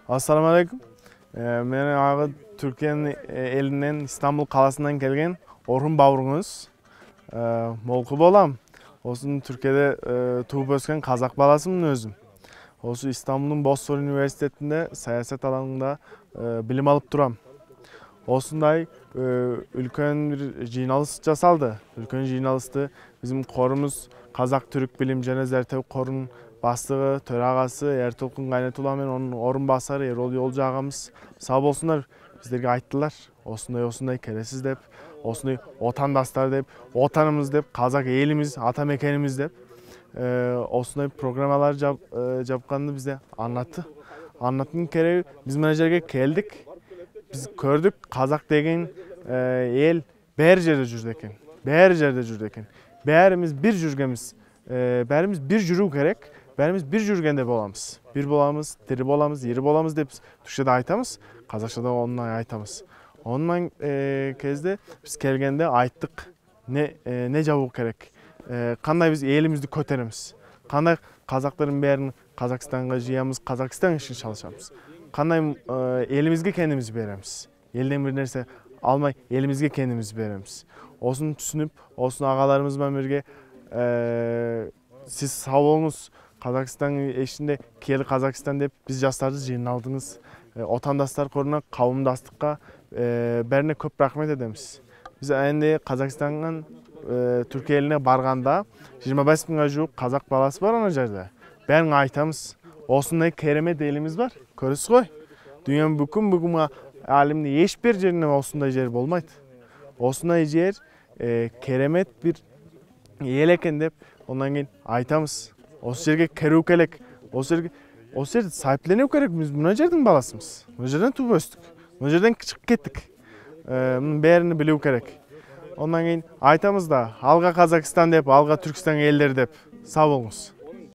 Assalamu alaikum. Men agı Türkiye'nin elinden İstanbul kalasından gelgen Orhun Bavruңuz. Molku bolam. Osun Türkiye'de tuğup ösken Kazak balasımın özüm. Osu İstanbul'un Bosfor Üniversitesi'nde siyaset alanında bilim alıp duram. Osunday ülkön bir jurnalist jasaldı. Ülkön jurnalisti bizim korumuz Kazak Türk Bilim және Зерттеу Корунун бастыгы, төрагасы Эртолкун Кайнетулла менен онун орун басары Эрол Жолжу агамыз сау болсундар, биздерге айттылар. Осундай кересиз деп, осундай отандастар деп, отанымыз деп, Казак элimiz, ата мекенimiz деп осундай программалар жапканды бизде аннатты. Аннаттын кереги биз мына жерге келдик. Biz gördük Kazak degen el bär jerde жүрдү экен. Bär jerde жүрдү экен. Bärimiz bir жүргөнбүз. Bärimiz bir жүрүү керек. Bärimiz bir жүргөндө боламыз. Bir боламыз, тири боламыз, ири боламыз деп түркчөдө айтабыз. Казакчада онундай айтабыз. Онун кезде биз келгенде айттык. Не жабуу керек? Кандай биз элимизди көтөрөбүз? Кандай казактардын бәрин Казакстанга жыябыз, Казакстан ишин чалышабыз? Кандай элимизге кендimiz беребиз? Элден бир нерсе алмай элимизге кендimiz беребиз. Осуну түшүнүп, осуну агаларыбыз менен бирге сиз сау болуңуз, Казакстан ишинде киели Казакстан деп биз жаштарды жыйналдыңыз. Отандастар коруна, кавымдастыкка бәріне көп рахмет edemiz. Биз энди Казакстандан Түркия элине барганда 25 миңга жуук казак баласы бар ана жерде. Бәрин айтамыз. Осундай керемет элimiz бар. Көрүсүз ғой. Дүйнөнүн бүгүн алимдин эч бир жеринде осундай жер болмойт. Осундай жер керемет бир эл экен деп ондан кийин айтамыз. Осы жерге кирүү керек. Осы жерде сайыпленүү керек. Биз мына жердин баласымыз. Мына жерден тууп өстүк. Мына жерден чыгып кеттик. Мунун бәрини билүү керек. Ondan кейін айтамыз да, алға Казакстан деп, алға Түркістан елдері деп. Сау болыңыз.